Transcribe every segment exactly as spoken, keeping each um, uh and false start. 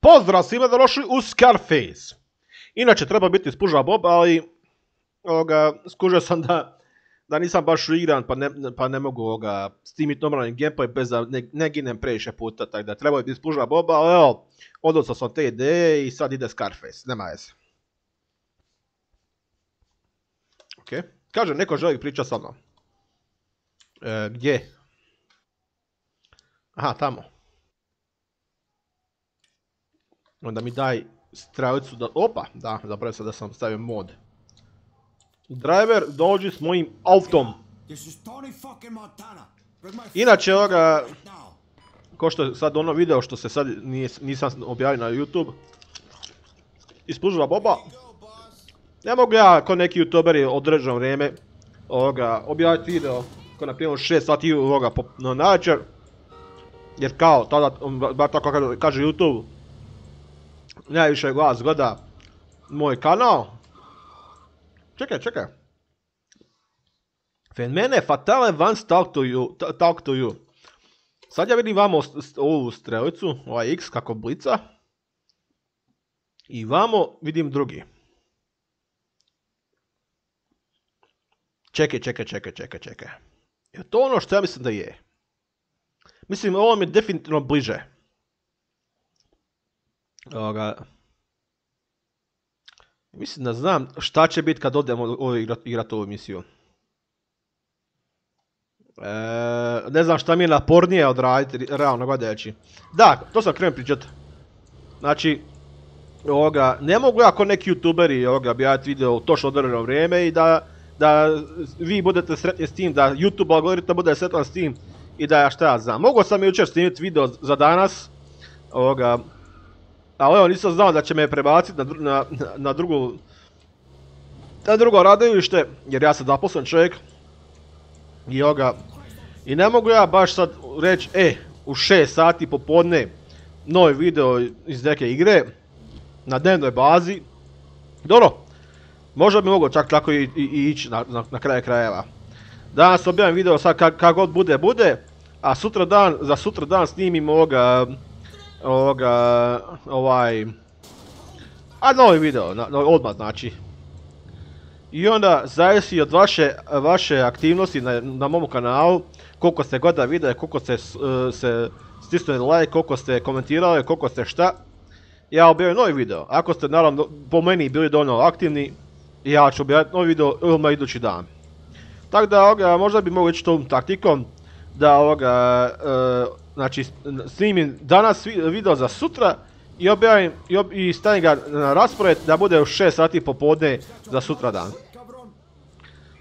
Pozdrav svima da došli u Scarface. Inače treba biti spuža Bob, ali ovoga, skužio sam da, da nisam baš igran pa ne, pa ne mogu ovoga, snimiti normalni gameplay bez da ne, ne ginem previše puta, tako da treba biti spuža Bob, ali evo, odnosno sam te ideje i sad ide Scarface, nema veze. Ok, kaže neko želi pričati sa mnom. E, gdje? Aha, tamo. Onda mi daj stravicu da... Opa, da, zapravo sam da sam stavio mod. Driver, dođi s mojim autom. Inače, ovoga... Ko što je sad ono video što se sad nisam objavio na YouTube. Ispužila Boba. Ne mogu ja, ko neki youtuberi određeno vrijeme, ovoga, objaviti video. Ko na primjer šest sati ovoga na navečer. Jer kao, tada, bar tako kaže YouTube, najviše glas gleda moj kanal. Čekaj, čekaj. Fenomene fatale once talk to you, talk to you. Sad ja vidim vamo ovu strelicu, ovaj X kako blica. I vamo vidim drugi. Čekaj, čekaj, čekaj, čekaj, čekaj. Je to ono što ja mislim da je? Mislim, ovo mi je definitivno bliže. Ovoga. Mislim da znam šta će biti kad odemo igrati ovu emisiju. E, ne znam šta mi je napornije odraditi, realno gledajući. Da, to sam krenuo pričat. Znači, ovoga, ne mogu ja ko neki youtuberi objaviti video u točno određeno vrijeme i da, da vi budete sretni s tim, da YouTube algoritam bude sretan s tim i da ja šta ja znam. Mogu sam jučer snimiti video za danas, ovoga, ali evo nisam znao da će me prebaciti na, na, na, drugu, na drugo radilište, jer ja sam zaposlen čovjek. I ovoga, i ne mogu ja baš sad reći, e, u šest sati popodne novi video iz neke igre, na dnevnoj bazi. Dobro, možda bi mogao čak tako i, i, i ići na, na, na kraju krajeva. Danas objavim video sad kak, kak god bude, bude, a sutra dan, za sutra dan snimim ovoga, ovoga, ovaj, a novi video, na, no, odmah znači. I onda zavisi od vaše, vaše aktivnosti na, na mom kanalu, koliko ste gleda video, koliko ste uh, se stisnuli like, koliko ste komentirali, koliko ste šta. Ja objavim novi video, ako ste naravno po meni bili dovoljno aktivni, ja ću objaviti novi video odmah idući dan. Tako da ovoga, možda bi mogli ići tom taktikom da ovoga, uh, znači snimim danas video za sutra i objavim i, ob, i stavim ga na raspored da bude u šest sati popodne za sutra dan.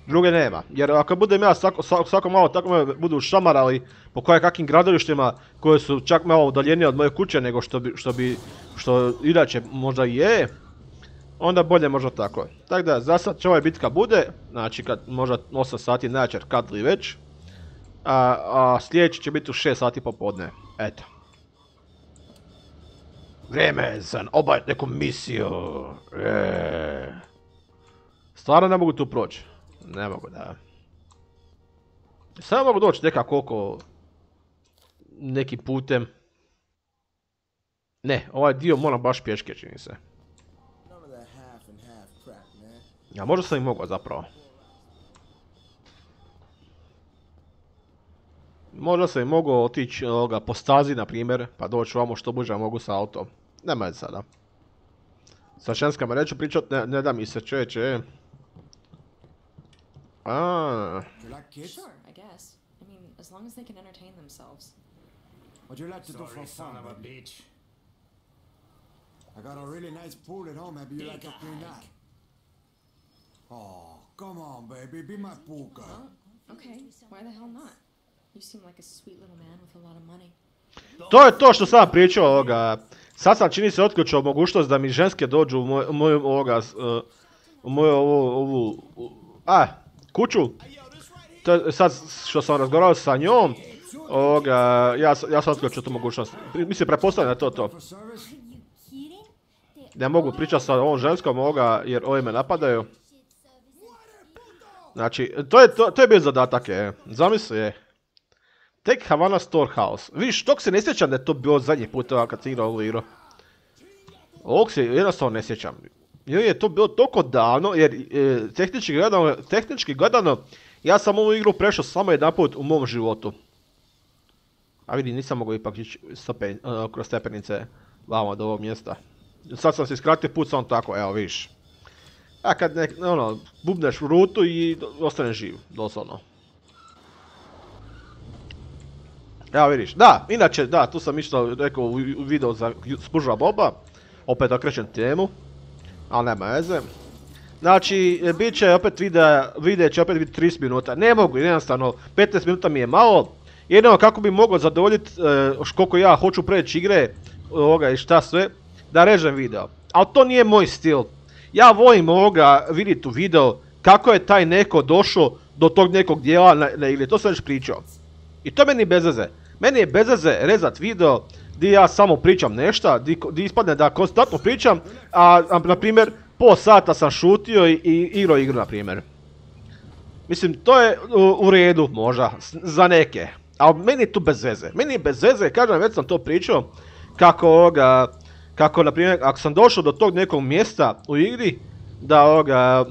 Druge nema, jer ako budem ja svako, svako malo tako me budu šamarali po koje kakvim gradilištima koje su čak malo udaljenije od moje kuće nego što bi, što bi, što inače možda i je, onda bolje možda tako. Tako da za sad će ova bitka bude, znači kad možda osam sati navečer kad li već, a, a sljedeći će biti u šest sati popodne, eto. Vrijeme je za obaviti neku misiju. Eee. Stvarno ne mogu tu proći. Ne mogu, da. Samo mogu doći nekako oko nekim putem. Ne, ovaj dio moram baš pješke, čini se. Ja, možda sam i mogao zapravo. Možda sam i mogao otići ovoga, po stazi, na primjer, pa doći ovamo što bliže mogu sa autom. Nema je sada. Sa ženskama neću pričat, ne, ne da mi se čeće. Ah. Sure, I guess. I mean, as long as they can entertain themselves. What you like to do for fun, of a bitch? I got a really nice pool at home. Maybe you like to clean that. Oh, come on, baby, be my pool girl. Well, okay, why the hell not? You seem like a sweet little man with a lot of money. To je to što sam pričao ovoga. Sad sam čini se otključao mogućnost da mi ženske dođu u moju, moju ovoga, uh, u moju ovu, ovu, a, kuću. To je sad što sam razgovarao sa njom, ovoga, ja, ja sam otključao tu mogućnost. Mislim, pretpostavljam da je to to. Ne mogu pričati sa ovom ženskom ovoga jer ovi me napadaju. Znači, to je, to, to je bio zadatak, je. Zamisli je. Take Havana Storehouse. Viš, tog se ne sjećam da je to bilo zadnji put kad sam igrao ovu igru. Ovog se jednostavno ne sjećam. Jer je to bilo toliko davno, jer e, tehnički gledano, tehnički gledano, ja sam ovu igru prešao samo jedanput u mom životu. A vidi, nisam mogao ipak ići stopen, uh, kroz stepenice vamo do ovog mjesta. Sad sam se skratio put samo tako, evo vidiš. A kad nek, ono, bubneš u rutu i ostaneš živ, doslovno. Evo vidiš, da, inače, da, tu sam isto rekao u video za Spužva Boba. Opet okrećem temu, ali nema veze. Znači, bit će opet videa, video će opet biti trideset minuta. Ne mogu, jednostavno, petnaest minuta mi je malo. Jedino kako bi mogao zadovoljiti uh, koliko ja hoću preći igre ovoga i šta sve, da režem video. Ali to nije moj stil. Ja volim ovoga vidjeti u video kako je taj neko došao do tog nekog dijela na, na igri, to sam već pričao. I to meni bez veze. Meni je bez veze rezat video gdje ja samo pričam nešto, gdje ispadne da konstantno pričam, a, a na primjer po sata sam šutio i, i igrao igru na primjer. Mislim, to je u, u redu možda, za neke. Ali meni je tu bez veze. Meni je bez veze, kažem, već sam to pričao, kako ovoga, kako na primjer, ako sam došao do tog nekog mjesta u igri, da ovoga,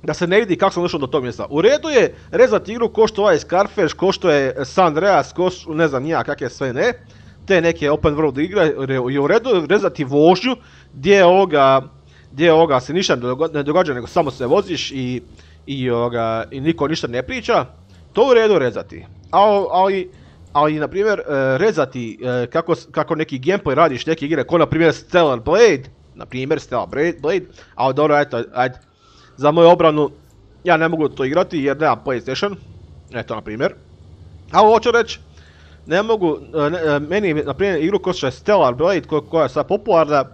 da se ne vidi kako sam došao do tog mjesta. U redu je rezati igru ko što ovaj Scarface, ko što je San Andreas, ko što, ne znam nija kakve sve ne, te neke open world igre, je u redu rezati vožnju, gdje ovoga, gdje ovoga se ništa ne događa, nego samo se voziš i, i, ovoga, i niko ništa ne priča, to u redu rezati. Ali, ali, ali na primjer, rezati kako, kako neki gameplay radiš neke igre, ko na primjer Stellar Blade, na primjer Stellar Blade, ali dobro, ajde, ajde, za moju obranu, ja ne mogu to igrati jer nemam PlayStation, eto na primjer. Ali hoću reći, ne mogu, ne, meni na primjer igru ko što je Stellar Blade, ko, koja je sad popularna,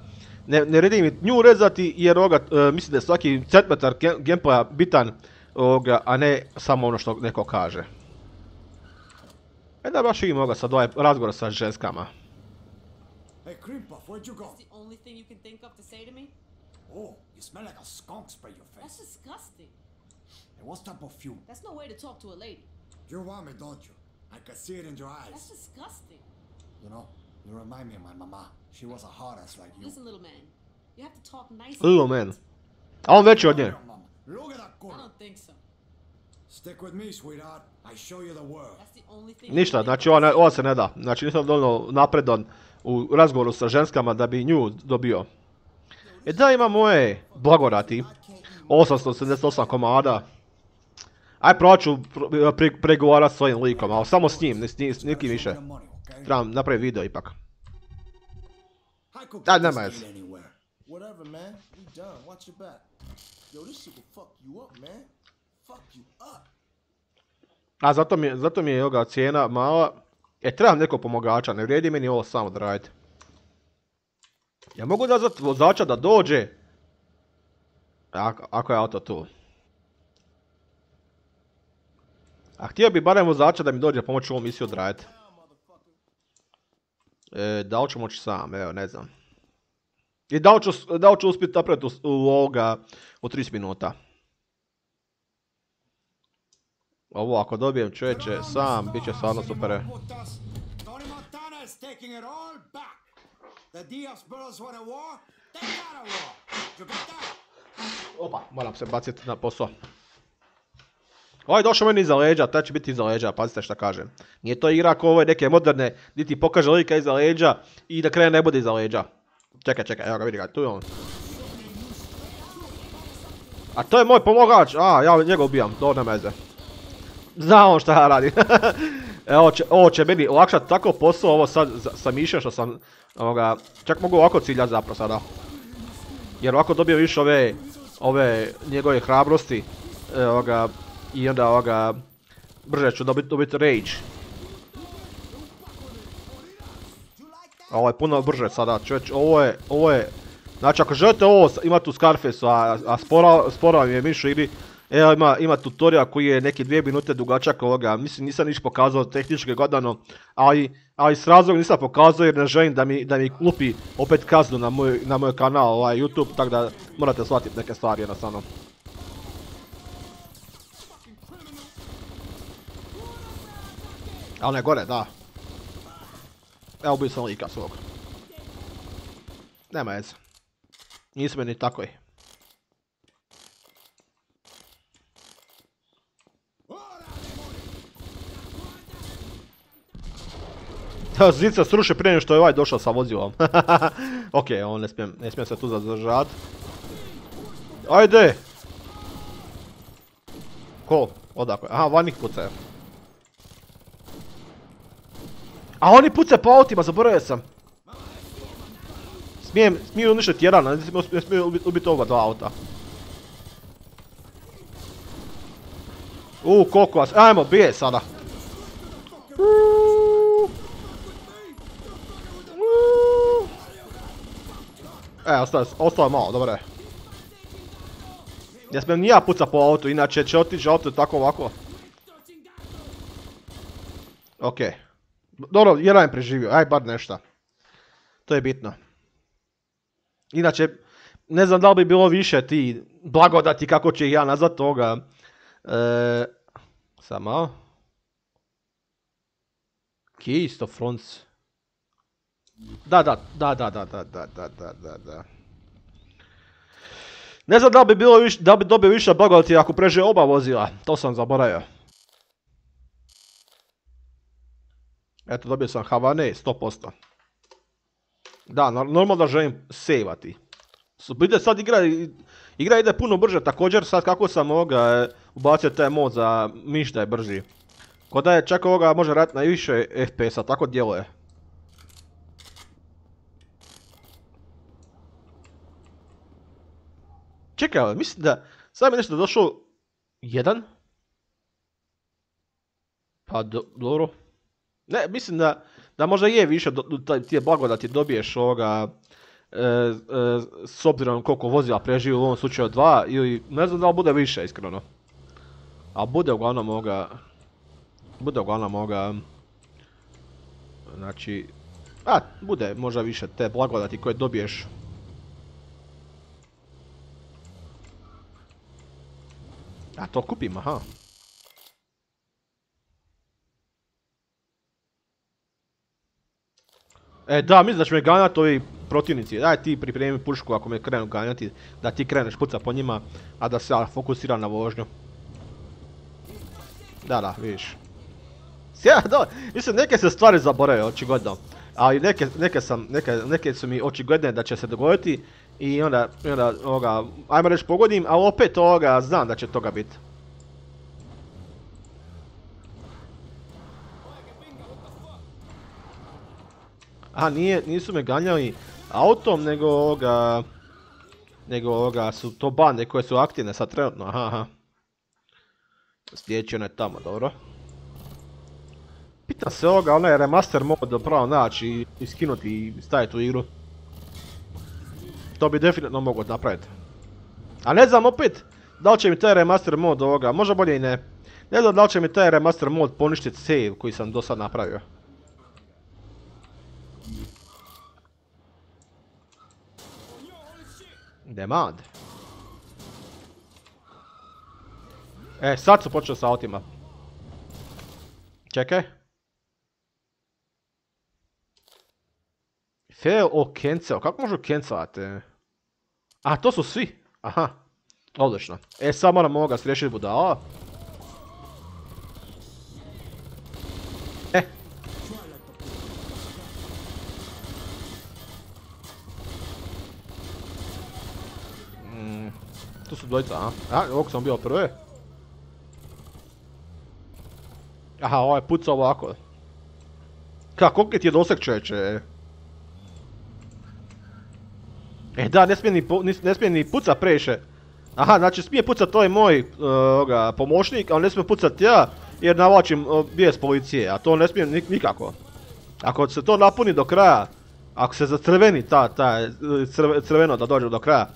ne, ne redim nju rezati jer ovoga, mislim da je svaki centimetar gameplaya bitan, ovoga, a ne samo ono što neko kaže. E da baš imam ovoga sad ovaj razgovor sa ženskama. Hey, Creampuff, where'd you go? That's the only thing you can think of to say to me? Oh, you smell like a skunk spray your That's face. disgusting. Hey, what's that perfume? That's no way to talk to a lady. You want me, don't you? I can see it in your That's eyes. disgusting. You know, you remind me of my mama. She was a hard ass like you. Listen, little man. You have to talk nice. Little man. A on veći od nje. Look at that I girl. don't think so. Stick with me, sweetheart. I show you the world. That's the only thing. Ništa, you can znači think ova, of. ova se ne da. Znači nisam dovoljno napredan u razgovoru sa ženskama da bi nju dobio. E da, ima moje blagorati. osamsto osamdeset osam komada. Aj probat ću pre, pregovarat s svojim likom, ali samo s njim, s, s nikim više. The money, okay? Trebam napraviti video ipak. I could Ah, get never this mind. kid anywhere. Whatever, man. We done. Watch your back. Yo, this shit will fuck you up, man. Fuck you up. A zato mi, zato mi je ovoga cijena mala. E, trebam nekog pomogača, ne vrijedi meni ovo samo odraditi. Ja mogu nazvati vozača da dođe. Ako, ako je auto tu. A htio bi barem vozača da mi dođe pomoći ovu misiju odraditi. E, da li ću moći sam, evo, ne znam. I da li ću, da li ću uspjeti napraviti u, u ovoga, u trideset minuta. Ovo ako dobijem čovječe sam, bit će stvarno super. Tony Montana is taking it all back. The Diaz brothers want a war. They got a war. You got that? Opa, moram se baciti na posao. Ovaj došao meni iza leđa, taj će biti iza leđa, pazite šta kažem. Nije to igra ako ove neke moderne, gdje ti pokaže lika iza leđa i da krene ne bude iza leđa. Čekaj, čekaj, evo ga vidi ga, tu je on. A to je moj pomogač, a ja njega ubijam, to nema veze. Zna on šta ja radim. Evo će, ovo će meni olakšati tako posao, ovo sad sam išao što sam, ovoga, čak mogu ovako ciljati zapravo sada. Jer ovako dobijem više ove, ove njegove hrabrosti, ovoga, i onda ovoga, brže ću dobiti, dobiti rage. Ovo je puno brže sada, čovječ, ovo je, ovo je, znači ako želite ovo imati u Scarfaceu, a, a sporo, sporo vam je mišu igri, evo ima, ima tutorial koji je neki dvije minute dugačak ovoga, mislim nisam niš pokazao tehnički gledano, ali, ali s razlogom nisam pokazao jer ne želim da mi, da mi lupi opet kaznu na moj, na moj kanal, ovaj YouTube, tako da morate shvatiti neke stvari jednostavno. A on je gore, da. Evo ubio sam lika svog. Nema veze. Nisu meni takvi. Zica sruši prije što je ovaj došao sa vozilom. Ok, on ne smijem, ne smijem se tu zadržati. Ajde! Ko? Odakle? Aha, vani pucaju. A oni pucaju po autima, zaboravio sam. Smijem, smiju uništiti jedan, ne smiju ubiti ubit oba dva auta. Uuu, koliko vas, ajmo, bije sada. E, ostalo, ostalo malo, dobro je. Ne smijem ni ja pucat po autu, inače će otići auto tako ovako. Okej. Dobro, jedan je preživio, aj bar nešto. To je bitno. Inače, ne znam da li bi bilo više ti blagodati, kako će ih ja nazvat toga. E, samo. Keys of Fronts. Da, da, da, da, da, da, da, da, da, da, da. Ne znam da li bi bilo više, da li bi dobio više blagodati ako prežije oba vozila, to sam zaboravio. Eto, dobio sam Havane, sto posto. Da, normalno da želim sejvati. Vidite, sad igra, igra ide puno brže, također sad kako sam ovoga ubacio taj mod za miš da je brži. Ko da je čak ovoga može raditi na više F P S-a, tako djeluje. Čekaj, mislim da sad mi nešto došao jedan. Pa do, dobro. Ne, mislim da, da možda je više do, do, tije blagodati dobiješ ovoga e, e, s obzirom koliko vozila preživi, u ovom slučaju dva, ili ne znam da li bude više iskreno. A bude uglavnom ovoga, bude uglavnom ovoga, znači, a bude možda više te blagodati koje dobiješ. A to kupim, aha. E da, mislim da će me ganjati ovi protivnici. Daj ti pripremi pušku ako me krenu ganjati, da ti kreneš puca po njima, a da se fokusira na vožnju. Da, da, vidiš. Sjeda, da, mislim neke se stvari zaborave, očigledno. Ali neke, neke, sam, neke, neke su mi očigledne da će se dogoditi i onda, i onda ovoga, ajmo reći pogodim, ali opet ovoga znam da će toga biti. Aha, nije, nisu me ganjali autom, nego ovoga, nego ovoga su to bande koje su aktivne sad trenutno, aha, aha. Sljedeći onaj tamo, dobro. Pitam se ovoga, onaj remaster mod pravo naći i skinuti i staviti u igru. To bi definitivno mogo napraviti. A ne znam opet, da li će mi taj remaster mod ovoga, možda bolje i ne. Ne znam da li će mi taj remaster mod poništiti save koji sam do sad napravio. Demand. E, sad su počeli sa autima. Čekaj. Fail or cancel, kako možu cancelati? A, to su svi. Aha, odlično. E, sad moram ovoga sriješiti budala. E. Mm, tu su dvojica, a? A, ovog sam bio prvi. Aha, ovaj puca ovako. Kako ti je doseg, čeče? E da, ne smije ni, ne smije ni pucat previše. Aha, znači smije pucat to je moj uh, oga, pomoćnik, ali ne smije pucat ja jer navlačim uh, bijes policije, a to ne smije nik nikako. Ako se to napuni do kraja, ako se zacrveni ta, ta crve, crveno da dođe do kraja,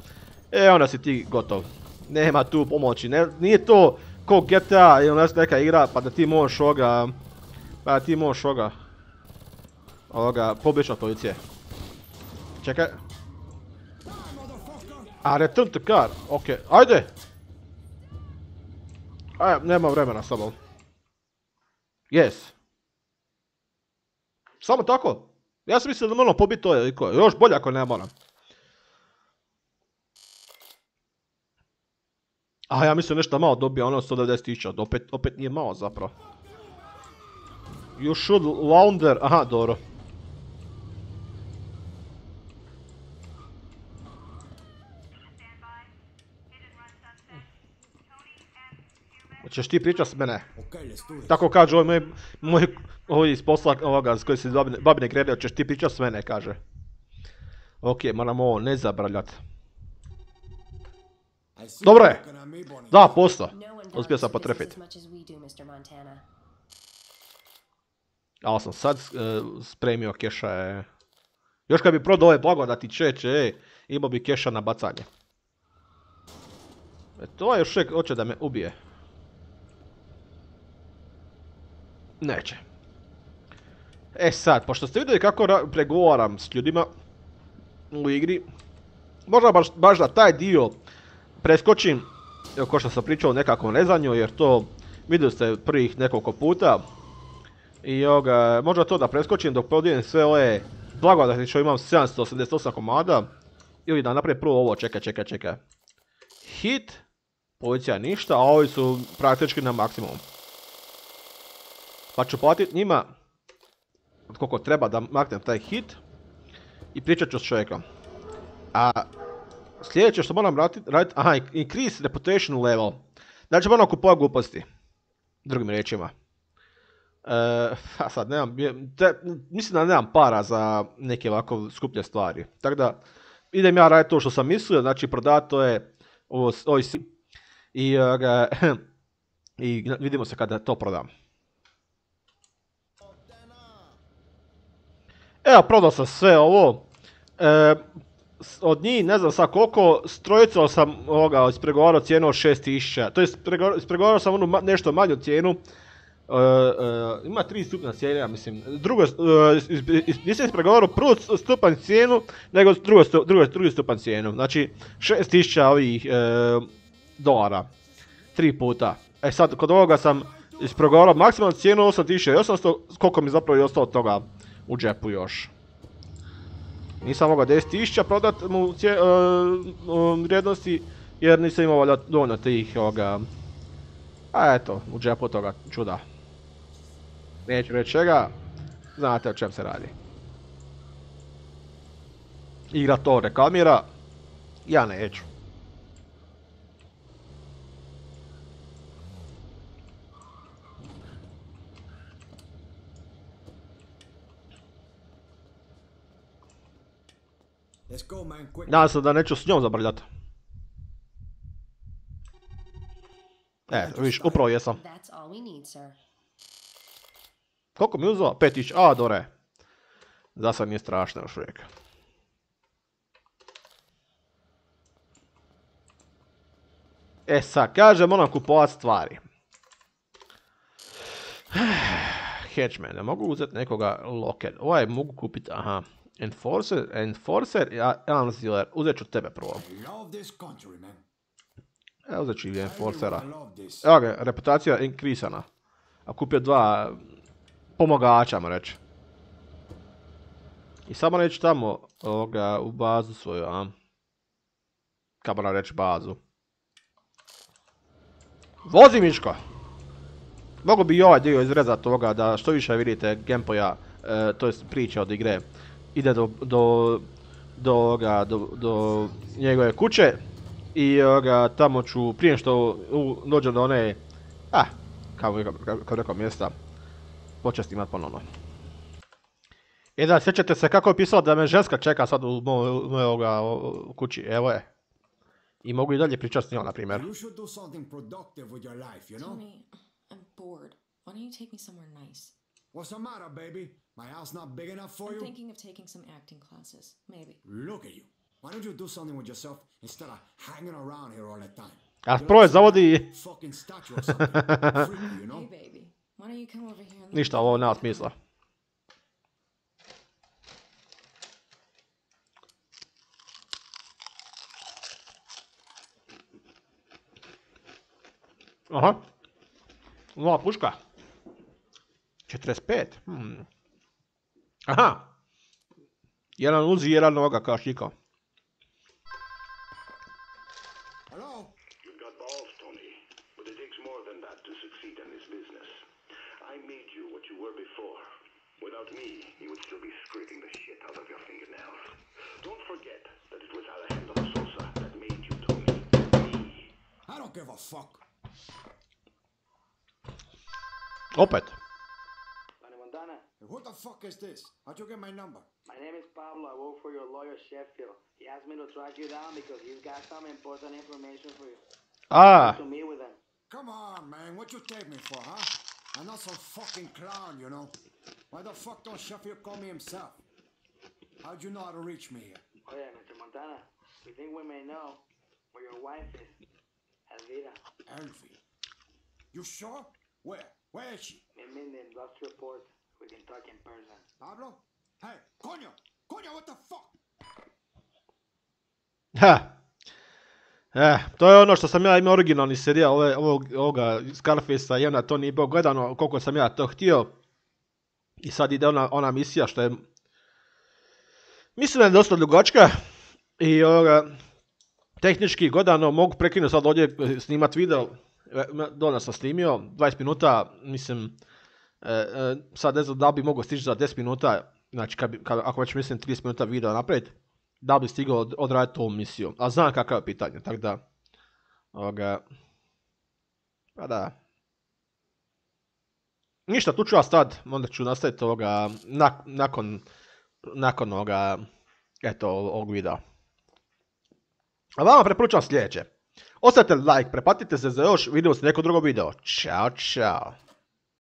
e onda si ti gotov. Nema tu pomoći, ne, nije to ko G T A ili neka igra pa da ti možeš ovoga, pa da ti možeš ovoga, ovoga, pobjeći od policije. Čekaj. A, return to car, okej, okay. Ajde! Aj, nema vremena s tobom. Yes. Samo tako? Ja sam mislio da moram pobiti to, još bolje ako ne moram. A ja mislim nešto malo dobija, ono sto devedeset tisuća, opet, opet nije malo zapravo. You should launder, aha, dobro. Hoćeš ti pričat s mene? Okay, let's do this. Tako kaže ovaj moj, moj ovaj iz posla ovoga s koji se babine, babine grede, hoćeš ti pričat s mene, kaže. Ok, moramo ovo ne zabrljat. I see Dobro you je. looking at me, Bonnie. Da, posto. No one Uspio sam values the potrefit. business as much as we do, mister Montana. Ali sam sad uh, spremio keša. E. Još kad bi prodao ove blagodati čeče, ej, imao bi keša na bacanje. E, to je još uvijek hoće da me ubije. Neće. E sad, pošto ste vidjeli kako pregovaram s ljudima u igri, možda baš, baš da taj dio preskočim, evo ko što sam pričao o nekakvom rezanju, jer to vidjeli ste prvih nekoliko puta. I ovoga, možda to da preskočim dok podijelim sve ove blagodati što imam sedamsto osamdeset osam komada. Ili da napravim prvo ovo, čekaj, čekaj, čekaj. Hit, policija ništa, a ovi su praktički na maksimum. Pa ću platiti njima koliko treba da maknem taj hit i pričat ću s čovjekom. A sljedeće što moram raditi, radit, aha, increase reputation level. Znači moram kupovati gluposti. Drugim riječima. E, a sad nemam, te, mislim da nemam para za neke ovako skuplje stvari. Tako da idem ja raditi to što sam mislio, znači prodati to je ovo, ovo i, uh, i vidimo se kada to prodam. Evo, prodao sam sve ovo. E, od njih ne znam sad koliko, s trojicom sam ovoga ispregovarao cijenu od šest tisuća. To je ispregovarao sam onu nešto manju cijenu. Uh, uh, ima tri stupna cijena, mislim. Drugo, uh, nisam ispregovarao prvu stupanj cijenu, nego drugo, stu, drugo, drugi stupanj cijenu. Znači, šest tisuća ovih uh, dolara. Tri puta. E sad, kod ovoga sam ispregovarao maksimalnu cijenu osam tisuća osamsto, koliko mi zapravo je ostalo toga u džepu još. Nisam mogao deset tisuća prodat mu cije, uh, um, vrijednosti, jer nisam imao valjda dovoljno tih ovoga. A eto, u džepu toga čuda. Neću reći čega, znate o čem se radi. Igra to reklamira, ja neću. Let's go, man, quick. Nadam se da neću s njom zabrljati. E, viš, upravo jesam. That's all we need, sir. Koliko mi je uzeo? pet tisuća, a dore. Za sad nije strašno još uvijek. E sad, kaže moram kupovat stvari. Hatchman, ne mogu uzeti nekoga locker. Ovaj mogu kupiti, aha. Enforcer, Enforcer, ja, Anziler, uzet ću tebe prvo. I love this country, man. Evo uzet ću i Enforcera. I love this. Evo ga, reputacija inkrisana. A kupio dva pomagača, mu reći. I samo reći tamo ovoga, u bazu svoju, a? Kako moram reći bazu. Vozi Miško! Mogu bi i ovaj dio izrezati ovoga da što više vidite gameplaya, e, to jest priče od igre. Ide do, do, do, ovoga, do, do njegove kuće. I ovoga, tamo ću, prije što u, dođem do one, ah, kao, kao, kao rekao mjesta, početi imat ponovno. E da, sjećate se kako je pisalo da me ženska čeka sad u mojoj kući, evo je. I mogu i dalje pričati s njom, na primjer. You should do something productive with your life, you know? Tony, I'm bored. Why don't you take me somewhere nice? What's the matter, baby? My house not big enough for I'm you? thinking of taking some acting classes. Maybe. Look at you. Why don't you do something with yourself instead of hanging around here all the time? A prvo je zavodi... Fucking statue or something. Freaky, you know? Hey, baby. Why don't you come over here and... Ništa, ovo nema smisla. Aha. Nova puška. četrdeset pet. Hmm. Aha. Jedan uzi, jedan noga kao šiko. Hello? You've got balls, give a fuck. Opet. Tony Montana, Hey, who the fuck is this? How'd you get my number? my name is Pablo. I work for your lawyer, Sheffield. He asked me to track you down because he's got some important information for you. Ah, To meet with him. Come on, man. What you take me for, huh? I'm not some fucking clown, you know. Why the fuck don't Sheffield call me himself? How'd you know how to reach me here? Oh yeah, Mister Montana. We think we may know where your wife is. Elvira. Elvie. You sure? Where? Where is she? Meet me in the industrial port. We can talk in person. Pablo? Hey, coño! Coño, what the fuck? ha. Eh, to je ono što sam ja imao originalni serijal ove, ovog, ovoga Scarfacea i onda to nije bilo gledano koliko sam ja to htio. I sad ide ona, ona misija što je... Mislim da je dosta dugačka i ovoga, tehnički gledano mogu prekinuti sad ovdje snimat video. Dole sam snimio, dvadeset minuta, mislim, e, e, sad ne znam da bi mogao stići za deset minuta, znači kad bi, kad, ako već mislim trideset minuta video napraviti, da bi stigao od, odraditi ovu misiju. A znam kakav je pitanje, tako da, ovoga, pa da. Ništa, tu ću ja stati, onda ću nastaviti ovoga, nak, nakon, nakon ovoga, eto, ovog videa. A vama preporučam sljedeće. Ostavite like, preplatite se za još, vidimo se neko drugo video. Ćao, čao.